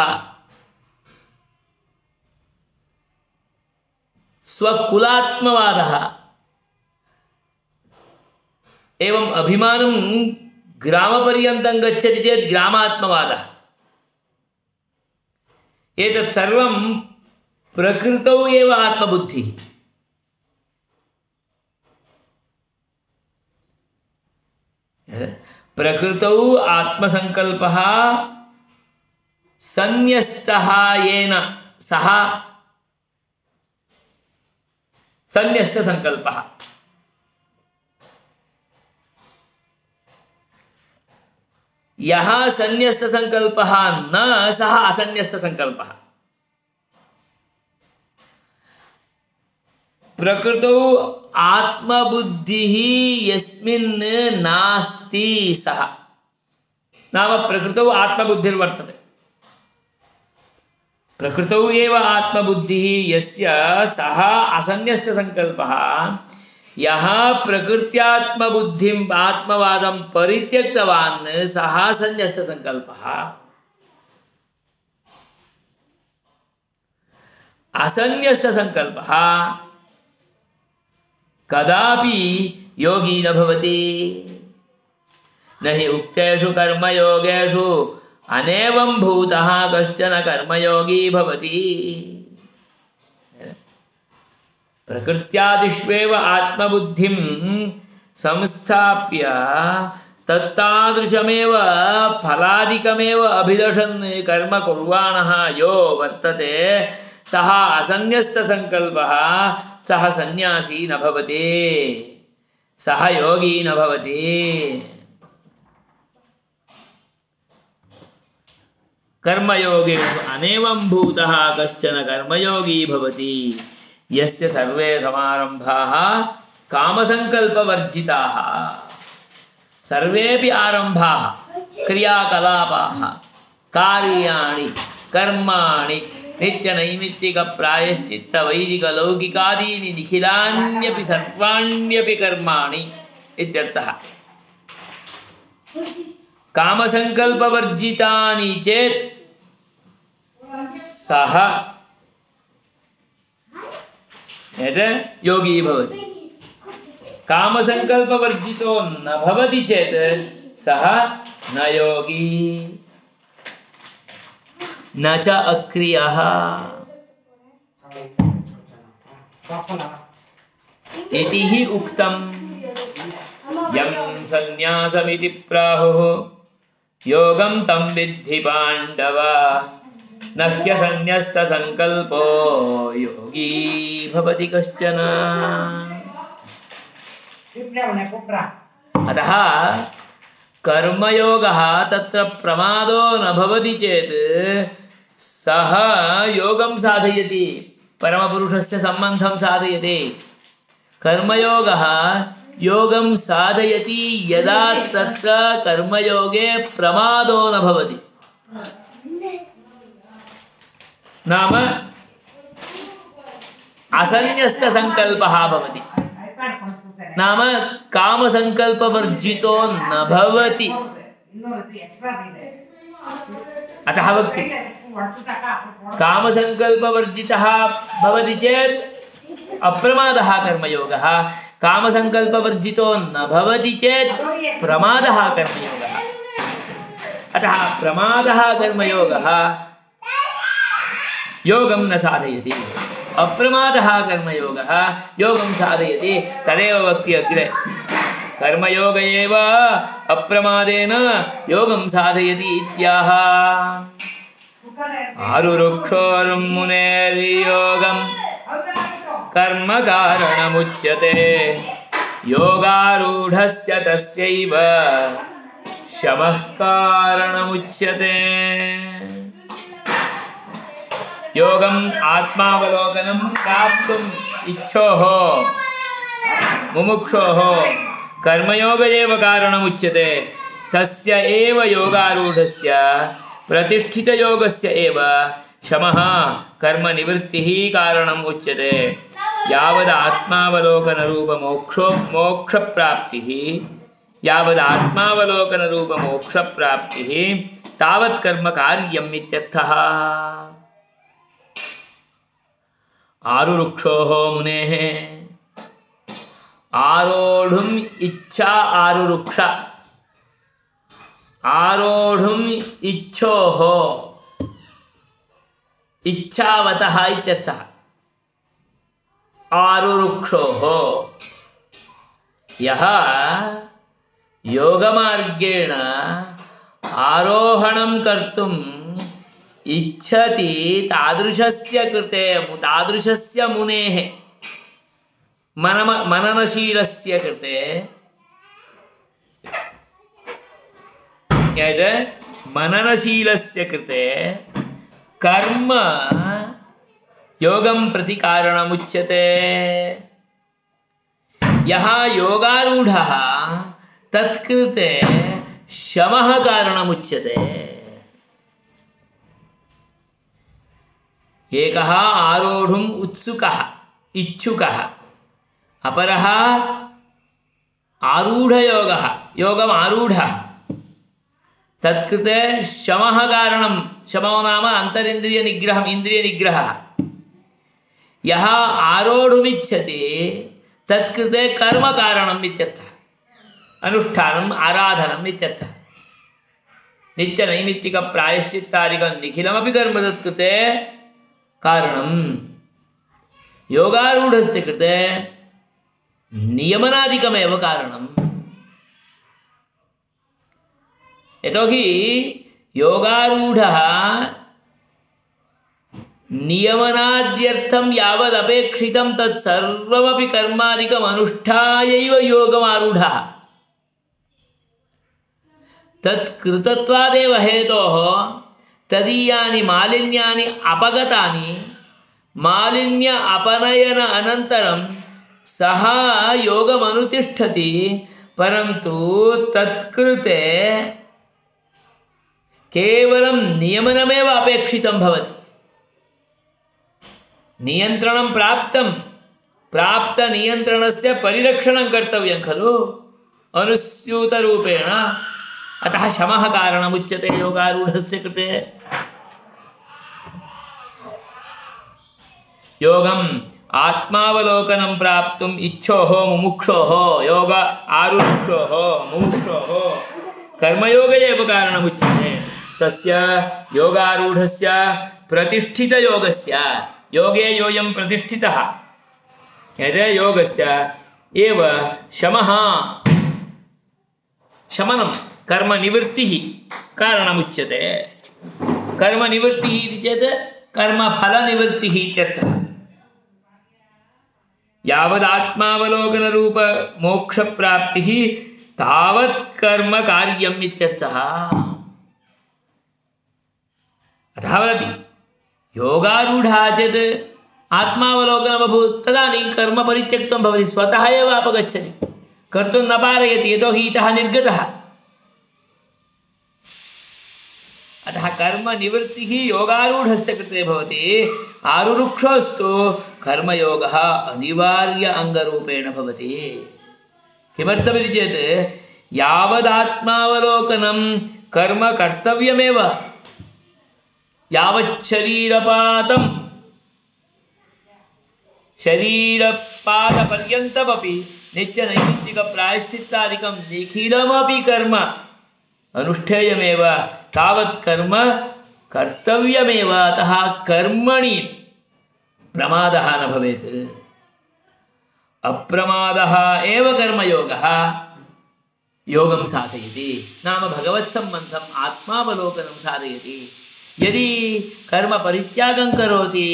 स्वकुलात्मवादः एवं अभिमानं ग्रामपर्यन्तं गच्छति चेत् ग्रामात्मवादः एतत् सर्वं प्रकृतौ एव आत्मबुद्धिः प्रकृतौ आत्मसंकल्पः सन्न्यस्तः येन सः सन्न्यस्तसंकल्पः यः सन्न्यस्तसंकल्पः न सः असन्न्यस्तसंकल्पः प्रकृतौ आत्मबुद्धिः यस्मिन् नास्ति सः नाम प्रकृतौ आत्मबुद्धिर्वर्तते प्रकृतौ एव आत्मबुद्धिः यस्य सः असन्न्यस्तसंकल्पः यः प्रकृत्यात्मबुद्धिम् आत्मवादं परित्यक्तवान् सः सन्न्यस्तसंकल्पः असन्न्यस्तसंकल्पः कदापि योगी न भवति न हि उक्तेषु कर्मयोगेषु अनेवं भूतः कश्चन कर्मयोगी भवति प्रकृत्यादिष्वेव आत्मबुद्धिं संस्थाप्य तत्तादृशमेव फलादिकमेव अभिलषन् कर्म कुर्वाणः यो वर्तते सः असन्न्यस्तसङ्कल्पः सः सन्न्यासी न भवति, सः योगी न भवति। कर्मयोगेषु अनेवं भूतः कश्चन कर्मयोगी भवति यस्य सर्वे समारम्भाः कामसङ्कल्पवर्जिताः। सर्वेपि आरम्भाः क्रियाकलापाः कार्याणि कर्माणि नित्यनैमित्तिकप्रायश्चित्तवैदिकलौकिकादीनि निखिलान्यपि सर्वाण्यपि कर्माणि इत्यर्थः। कामसङ्कल्पवर्जितानि चेत् सः योगी भवति। कामसङ्कल्पवर्जितो न भवति चेत् सः न योगी न च अक्रियः। इति हि उक्तम् यं सन्न्यासमिति प्राहुः योगं तं विद्धि पाण्डव न ह्यसन्न्यस्तसङ्कल्पो योगी भवति कश्चन। अतः कर्मयोगः तत्र प्रमादो न भवति चेत् सः योगं साधयति, परमपुरुषस्य सम्बन्धं साधयति। कर्मयोगः योगं साधयति यदा तत्र कर्मयोगे प्रमादो न भवति, नाम असन्न्यस्तसङ्कल्पः भवति, नाम कामसङ्कल्पवर्जितो न भवति। अतः वक्ति कामसङ्कल्पवर्जितः भवति चेत् अप्रमादः कर्मयोगः, कामसङ्कल्पवर्जितो न भवति चेत् प्रमादः कर्मयोगः। अतः प्रमादः कर्मयोगः योगं न साधयति, अप्रमादः कर्मयोगः योगं साधयति। तदेव वक्ति अग्रे कर्मयोग एव अप्रमादेन योगं साधयति इत्याह। आरुरुक्षोर्मुनेर्योगं कर्म कारणमुच्यते योगारूढस्य तस्यैव शमः कारणमुच्यते। योगम् आत्मावलोकनं प्राप्तुम् इच्छोः मुमुक्षोः कर्मयोग एव कारणमुच्यते। तस्य एव योगारूढस्य प्रतिष्ठितयोगस्य एव शमः कर्मनिवृत्तिः कारणम् उच्यते। यावदात्मावलोकनरूपमोक्षप्राप्तिः यावदात्मावलोकनरूपमोक्षप्राप्तिः तावत् कर्म कार्यम् इत्यर्थः। आरुरुक्षोः मुनेः आरोढुम् इच्छा आरुरुक्ष आरोढुम् इच्छोः इच्छावतः इत्यर्थः। आरुरुक्षोः यः योगमार्गेण आरोहणं कर्तुम् इच्छति तादृशस्य कृते तादृशस्य मुनेः मननशीलस्य कृते मननशीलस्य कृते कर्म योगं प्रति कारणमुच्यते। यः योगारूढः तत्कृते शमः कारणमुच्यते। एकः आरोढुम् उत्सुकः इच्छुकः, अपरः आरूढयोगः योगम् आरूढः, तत्कृते शमः कारणं। शमो नाम अन्तरिन्द्रियनिग्रहम्, इन्द्रियनिग्रहः। यः आरोढुमिच्छति तत्कृते कर्मकारणम् इत्यर्थः, अनुष्ठानम् आराधनम् इत्यर्थः। नित्यनैमित्तिकप्रायश्चित्तादिकं निखिलमपि कर्म तत्कृते कारणं। योगारूढस्य कृते नियमनादिकमेव कारणम्। यतोहि योगारूढः नियमनाद्यर्थं यावदपेक्षितं तत्सर्वमपि कर्मादिकम् अनुष्ठायैव योगमारूढः। तत्कृतत्वादेव हेतोः तदीयानि मालिन्यानि अपगतानि मालिन्य अपनयन अनन्तरं सः योगमनुतिष्ठति, परन्तु तत्कृते केवलं नियमनमेव अपेक्षितं भवति। नियन्त्रणं प्राप्तनियन्त्रणस्य परिरक्षणं कर्तव्यं खलु अनुस्यूतरूपेण। अतः शमः कारणमुच्यते योगारूढस्य कृते। योगम् आत्मावलोकनं प्राप्तुम् इच्छोः मुमुक्षोः योग आरुक्षोः मुमुक्षोः कर्मयोग एव कारणमुच्यते। तस्य योगारूढस्य प्रतिष्ठितयोगस्य योगे योऽयं प्रतिष्ठितः यदि योगस्य एव शमः शमनं कर्मनिवृत्तिः कारणमुच्यते। कर्मनिवृत्तिः इति चेत् कर्मफलनिवृत्तिः इत्यर्थः। यावदात्मावलोकनरूप मोक्षप्राप्तिः तावत् कर्म कार्यम् इत्यर्थः। अतः वदति योगारूढः चेत् आत्मावलोकनमभूत् तदानीं कर्म परित्यक्तं भवति, स्वतः एव अपगच्छति, कर्तुं न पारयति, यतोहि इतः निर्गतः। अतः कर्मनिवृत्तिः योगारूढस्य कृते भवति। आरुरुक्षोस्तु कर्मयोगः अनिवार्य अङ्गरूपेण भवति। किमर्थमिति चेत् यावदात्मावलोकनं कर्म कर्तव्यमेव, यावच्छरीरपातं शरीरपादपर्यन्तमपि नित्यनैमित्तिकप्रायश्चित्तादिकं निखिलमपि कर्म अनुष्ठेयमेव, तावत् कर्म कर्तव्यमेव। अतः कर्मणि प्रमादः न भवेत्। अप्रमादः एव कर्मयोगः योगं साधयति, नाम भगवत्सम्बन्धम् आत्मावलोकनं साधयति। यदि कर्म परित्यागं करोति,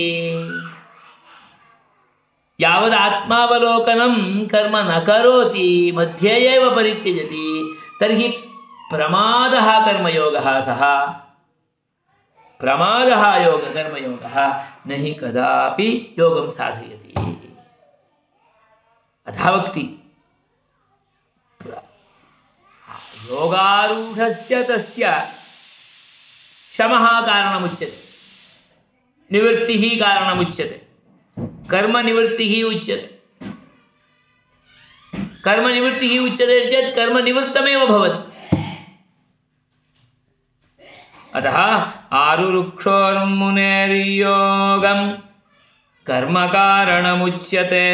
यावदात्मावलोकनं कर्म न करोति, मध्ये एव परित्यजति, तर्हि प्रमादः कर्मयोगः सः। प्रमादः कर्मयोगः न हि कदापि योगं साधयति। अतः वक्ति योगारूढस्य तस्य शमः कारणमुच्यते, निवृत्तिः कारणमुच्यते, कर्मनिवृत्तिः उच्यते। कर्मनिवृत्तिः उच्यते चेत् कर्मनिवृत्तमेव भवति। अतः आरुरुक्षोर्मुनेर्योगं कर्मकारणमुच्यते,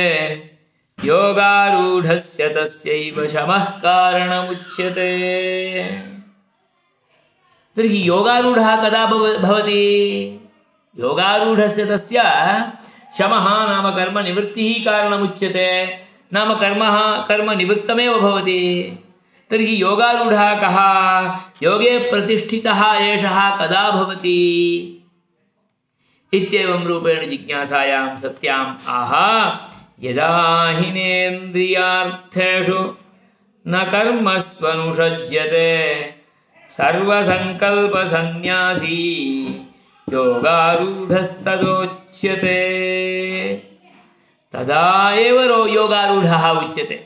योगारूढस्य तस्यैव शमः कारणमुच्यते। तर्हि योगारूढः कदा भवति? योगारूढस्य तस्य शमः नाम कर्मनिवृत्तिः कारणमुच्यते, नाम कर्मनिवृत्तमेव भवति। तर्हि योगारूढः कः? योगे प्रतिष्ठितः एषः कदा भवति इत्येवं रूपेण जिज्ञासायां सत्याम् आह। यदा हिनेन्द्रियार्थेषु न कर्मस्वनुषज्यते सर्वसङ्कल्पसन्न्यासी योगारूढस्तदोच्यते। तदा एव योगारूढः उच्यते,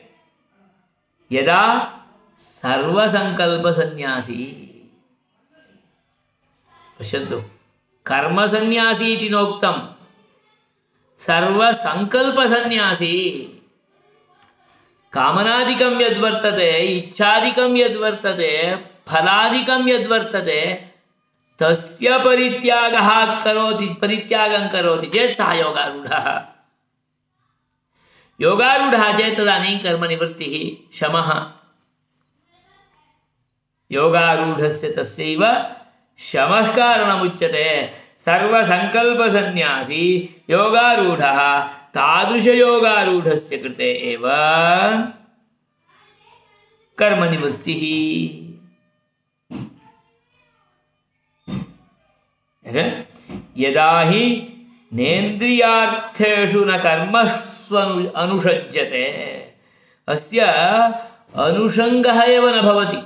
यदा सर्वसङ्कल्पसन्न्यासी। पश्यन्तु, कर्मसन्न्यासी इति नोक्तं, सर्वसङ्कल्पसन्न्यासी। कामनादिकं यद्वर्तते, इच्छादिकं यद्वर्तते, फलादिकं यद्वर्तते, तस्य परित्यागं करोति चेत् सः योगारूढः। योगारूढः चेत् तदानीं कर्मनिवृत्तिः शमः। योगारूढस्य तस्यैव शमः कारणमुच्यते। सर्वसङ्कल्पसन्न्यासी योगारूढः, तादृशयोगारूढस्य कृते एव कर्मनिवृत्तिः। यदा हि नेन्द्रियार्थेषु न कर्मस्व अनुषज्यते अस्य अनुषङ्गः एव न भवति।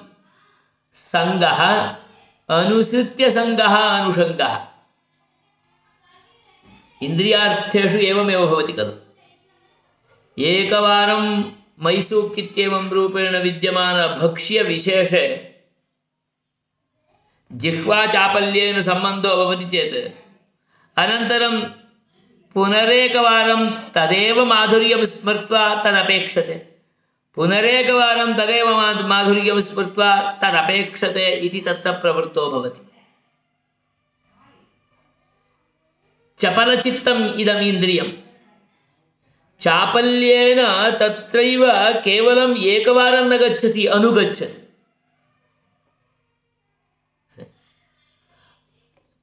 संगः अनुसृत्य संगः अनुषङ्गः इन्द्रियार्थेषु एवमेव भवति खलु। एकवारं मैसूक् इत्येवं रूपेण विद्यमान भक्ष्यविशेषे जिह्वाचापल्येन सम्बन्धो भवति चेत् अनन्तरं पुनरेकवारं तदेव माधुर्यं स्मृत्वा तदपेक्षते, पुनरेकवारं तदेव माधुर्यं स्मृत्वा तदपेक्षते इति तत्र प्रवृत्तो भवति। चपलचित्तम् इदम् इन्द्रियं चापल्येन तत्रैव केवलम् एकवारं न गच्छति, अनुगच्छति।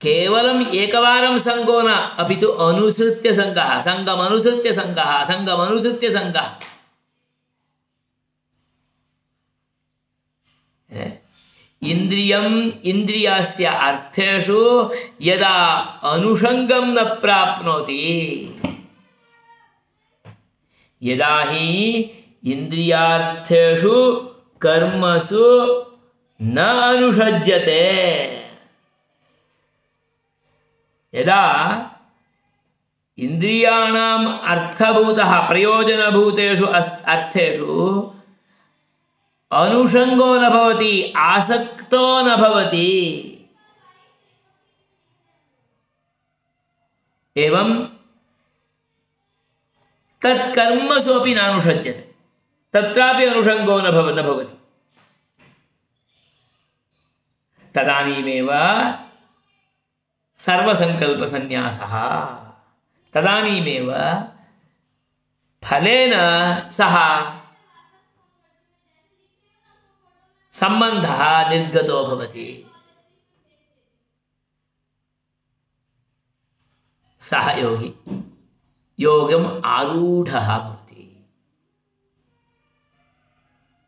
केवलम् एकवारं संगो न, अपि तु अनुसृत्य संगः, संगमनुसृत्य संगः, संगमनुसृत्य संगः। इन्द्रियम् इन्द्रियस्य अर्थेषु यदा अनुषङ्गं न प्राप्नोति, यदा हि इन्द्रियार्थेषु कर्मसु न अनुषज्यते, यदा इन्द्रियाणाम् अर्थभूतः प्रयोजनभूतेषु अर्थेषु अनुषङ्गो न भवति, आसक्तो न भवति, एवं तत्कर्मसु अपि नानुषज्यते, तत्रापि अनुषङ्गो न भवति। तदानीमेव सर्वसङ्कल्पसन्न्यासः, तदानीमेव फलेन सह सम्बन्धः निर्गतो भवति। सः योगी योगम् आरूढः भवति।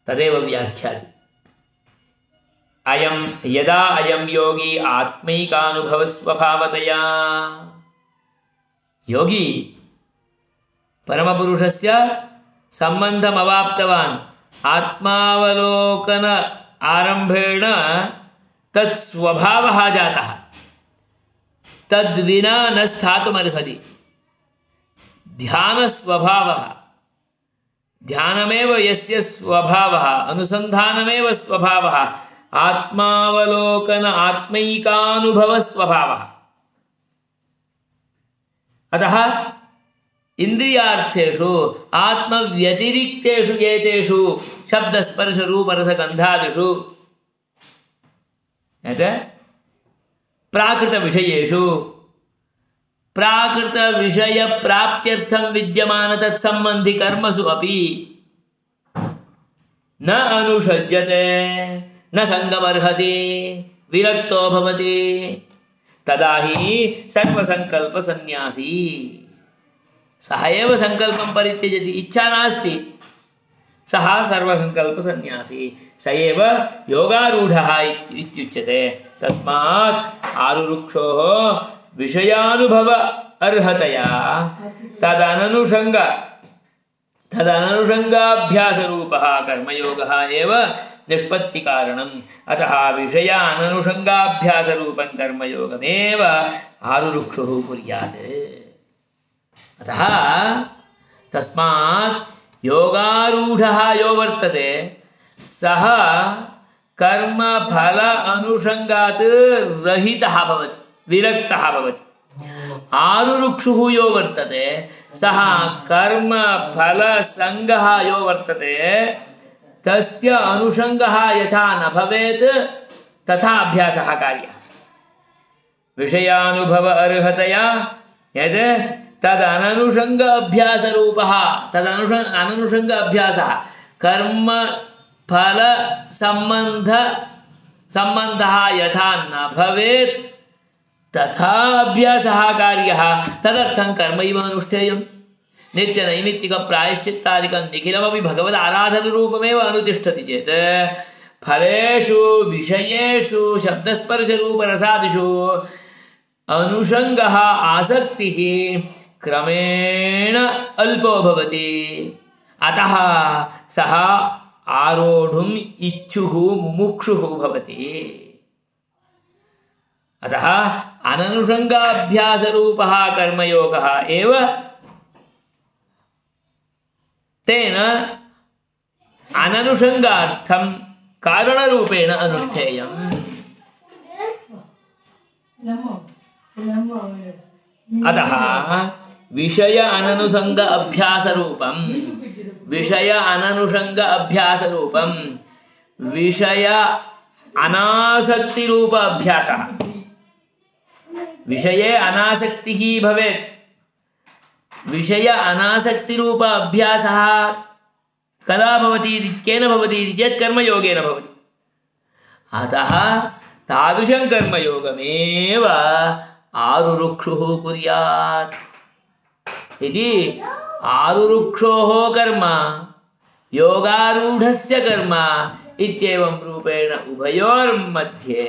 तदेव व्याख्याति। अयं यदा अयं योगी आत्मैकानुभवस्वभावतया, योगी परमपुरुषस्य सम्बन्धमवाप्तवान्, आत्मावलोकन आरम्भेण तत्स्वभावः जातः, तद्विना न स्थातुमर्हति। ध्यानस्वभावः, ध्यानमेव यस्य स्वभावः, अनुसन्धानमेव स्वभावः, आत्मावलोकन आत्मैकानुभवस्वभावः। अतः इन्द्रियार्थेषु आत्मव्यतिरिक्तेषु एतेषु शब्दस्पर्शरूपरसगन्धादिषु प्राकृतविषयेषु प्राकृतविषयप्राप्त्यर्थं विद्यमान तत्सम्बन्धि कर्मसु अपि न अनुषज्यते, न संगमर्हति, विरक्तो भवति। तदा हि सर्वसङ्कल्पसन्न्यासी, सः एव संकल्पं परित्यजति, इच्छा नास्ति, सः सर्वसङ्कल्पसन्न्यासी, स एव योगारूढः इत्युच्यते। तस्मात् आरुरुक्षोः विषयानुभव अर्हतया तदननुषङ्गाभ्यासरूपः कर्मयोगः एव निष्पत्तिकारणम्। अतः विषयाननुषङ्गाभ्यासरूपं कर्मयोगमेव आरुरुक्षुः कुर्यात्। अतः तस्मात् योगारूढः यो वर्तते सः कर्मफल अनुषङ्गात् रहितः भवति, विरक्तः भवति। आरुरुक्षुः यो वर्तते सः कर्मफलसङ्गः यो वर्तते तस्य अनुषङ्गः यथा न भवेत् तथा अभ्यासः कार्यः। विषयानुभव अर्हतया यत् तदननुषङ्ग अभ्यासरूपः, तदननुषङ्ग अभ्यासः कर्मफलसम्बन्धः यथा न भवेत् तथा अभ्यासः कार्यः। तदर्थं कर्मैव अनुष्ठेयम्। नित्यनैमित्तिकप्रायश्चित्तादिकं निखिलमपि भगवदाराधनरूपमेव अनुतिष्ठति चेत् फलेषु विषयेषु शब्दस्पर्शरूपरसादिषु अनुषङ्गः आसक्तिः क्रमेण अल्पो भवति। अतः सः आरोढुम् इच्छुः मुमुक्षुः भवति। अतः अननुषङ्गाभ्यासरूपः कर्मयोगः एव तेन अननुषङ्गार्थं कारणरूपेण अनुष्ठेयम्। अतः विषय अननुषङ्ग अभ्यासरूपं विषय अनासक्तिरूप अभ्यासः। विषये अनासक्तिः भवेत्। विषय अनासक्तिरूप अभ्यासः कदा भवति, केन भवति इति चेत् कर्मयोगेन भवति। अतः तादृशं कर्मयोगमेव आरुरुक्षुः कुर्यात् इति। आरुरुक्षोः कर्म योगारूढस्य कर्म इत्येवं रूपेण उभयोर्मध्ये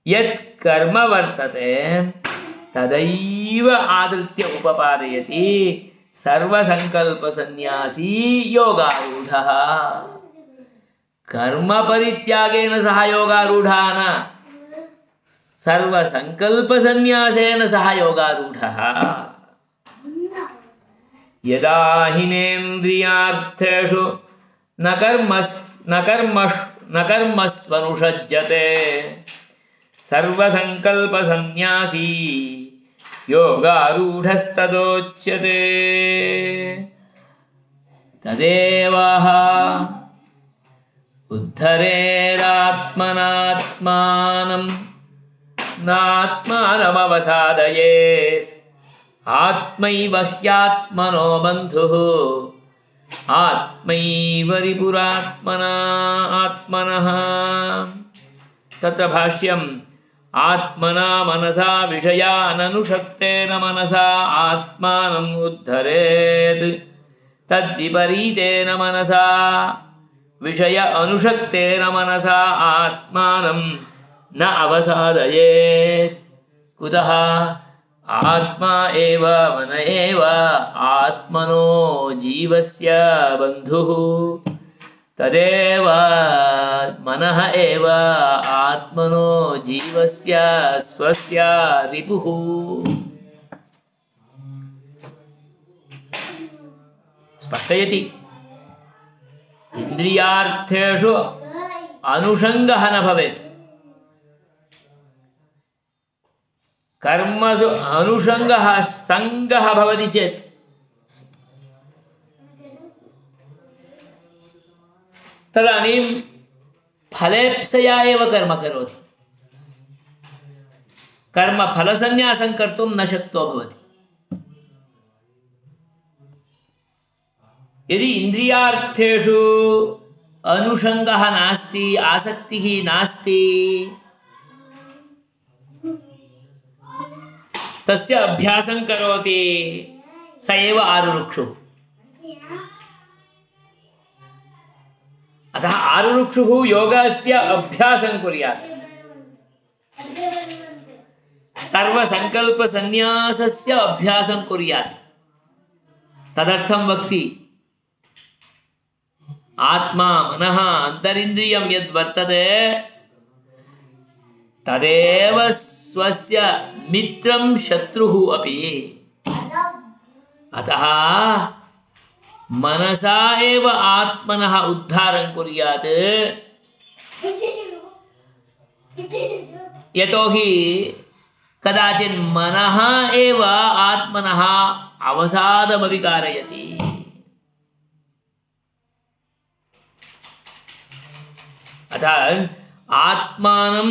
यत् कर्म वर्तते तदैव आदृत्य उपपादयति सर्वसङ्कल्पसन्न्यासी योगारूढः। कर्मपरित्यागेन सह योगारूढः न, सर्वसङ्कल्पसन्न्यासेन सह योगारूढः। यदा हिनेन्द्रियार्थेषु न कर्मस्वनुषज्यते सर्वसङ्कल्पसन्न्यासी योगारूढस्तदोच्यते। तदेवः उद्धरेरात्मनात्मानं नात्मानमवसादयेत् आत्मैव ह्यात्मनो बन्धुः आत्मैव रिपुरात्मनः। तत्र भाष्यम् आत्मना मनसा विषयाननुषक्तेन मनसा आत्मानम् उद्धरेत् तद्विपरीतेन मनसा विषय अनुषक्तेन मनसा आत्मानं न अवसादयेत्। कुतः आत्मा एव मन एव आत्मनो जीवस्य बन्धुः। तदेव मनः एव आत्मनो जीवस्य स्वस्य रिपुः। स्पष्टयति। इन्द्रियार्थेषु अनुषङ्गः न भवेत्। कर्मसु अनुषङ्गः सङ्गः भवति चेत् तदानीं फलेप्सया एव कर्म करोति। कर्मफलसन्न्यासं कर्तुं न शक्तो भवति। यदि इन्द्रियार्थेषु अनुषङ्गः नास्ति, आसक्तिः नास्ति, तस्य अभ्यासं करोति स एव आरुरुक्षुः। अतः आरुरुक्षुः योगस्य अभ्यासं कुर्यात्, सर्वसङ्कल्पसन्न्यासस्य अभ्यासं कुर्यात्। तदर्थं वक्ति आत्मा मनः अन्तरिन्द्रियं यद्वर्तते तदेव स्वस्य मित्रं शत्रुः अपि। अतः मनसा एव आत्मनः उद्धारं कुर्यात्। यतोहि कदाचित् मनः एव आत्मनः अवसादमपि कारयति। अतः आत्मानं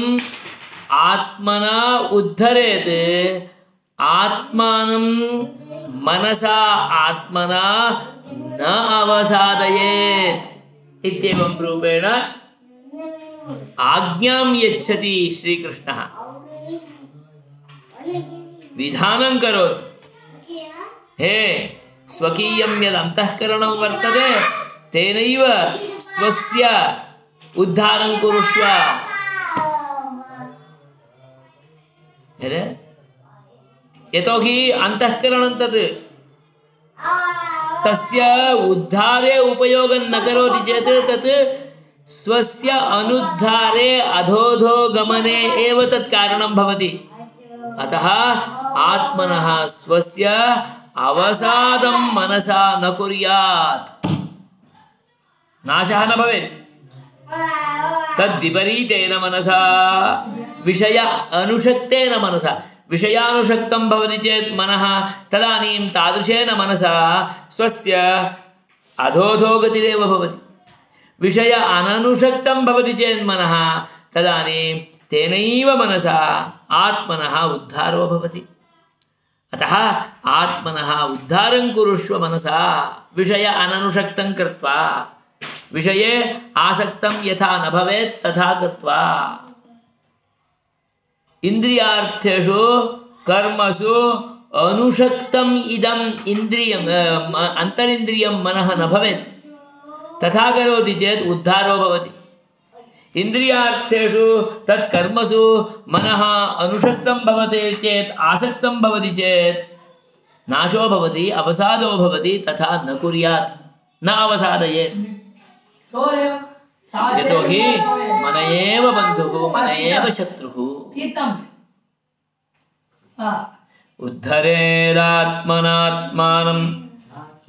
आत्मना उद्धरेत्, आत्मानं मनसा आत्मना न अवसादयेत् इत्येवं रूपेण आज्ञां यच्छति श्रीकृष्णः। विधानं करोति, हे स्वकीयं यद् अन्तःकरणं वर्तते तेनैव स्वस्य उद्धारं कुरुष्व। यतोहि अन्तःकरणं तत् तस्य उद्धारे उपयोगं न करोति चेत् तत् स्वस्य अनुद्धारे अधोधो गमने एव तत् कारणं भवति। अतः आत्मनः स्वस्य अवसादं मनसा न कुर्यात्, नाशः न भवेत्। तद्विपरीतेन मनसा विषय अनुषक्तेन मनसा, विषयानुषक्तं भवति चेत् मनः तदानीं तादृशेन मनसा स्वस्य अधोधो गतिरेव भवति। विषय अननुषक्तं भवति चेत् मनः तदानीं तेनैव मनसा आत्मनः उद्धारो भवति। अतः आत्मनः उद्धारं कुरुष्व मनसा विषय अननुषक्तं कृत्वा, विषये आसक्तं यथा न भवेत् तथा कृत्वा। इन्द्रियार्थेषु कर्मसु अनुषक्तम् इदम् इन्द्रियम् अन्तरिन्द्रियं मनः न भवेत्, तथा करोति चेत् उद्धारो भवति। इन्द्रियार्थेषु तत्कर्मसु मनः अनुषक्तं भवति चेत्, आसक्तं भवति चेत् नाशो भवति, अवसादो भवति। तथा न कुर्यात्, न अवसादयेत्। यतोहि मन एव बन्धुः, मन एव शत्रुः। उद्धरेदात्मनात्मानं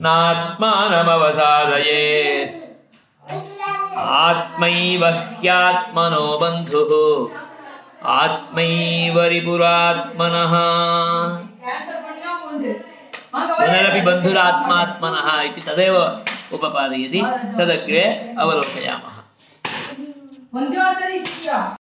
नात्मानमवसादयेत्। आत्मैव ह्यात्मनो बन्धुः, आत्मैव रिपुरात्मनः। पुनरपि बन्धुरात्मात्मनः इति तदेव उपपादयति, तदग्रे अवलोकयामः।